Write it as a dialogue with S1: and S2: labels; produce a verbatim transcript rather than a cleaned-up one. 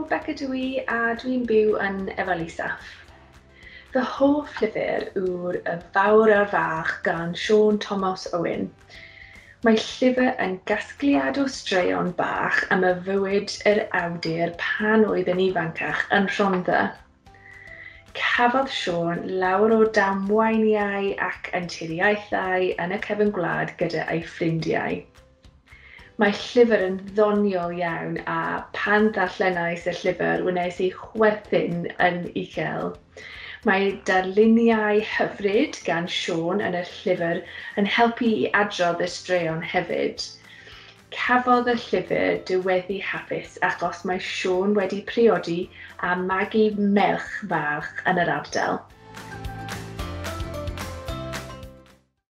S1: Beca dw i a dwi'n byw yn Efail Isaf. Fy hoff llyfr yw'r Y Fawr a'r Fach gan Siôn Tomos Owen. Mae llyfr yn gasgliad o straeon bach am y fywyd yr awdur pan oedd yn ifancach yn Rhondda. Cafodd Siôn lawer o damweiniau ac anturiaethau yn y cefn gwlad gyda ei ffrindiau. Mae llyfr yn ddoniol iawn a pan ddarllenais y llyfr wnes i chwerthin yn uchel. Mae darluniau hyfryd gan Siôn yn y llyfr yn helpu i adrodd y straeon hefyd. Cafodd y llyfr diweddu hapus achos mae Siôn wedi priodi a magu merch fach yn yr ardal.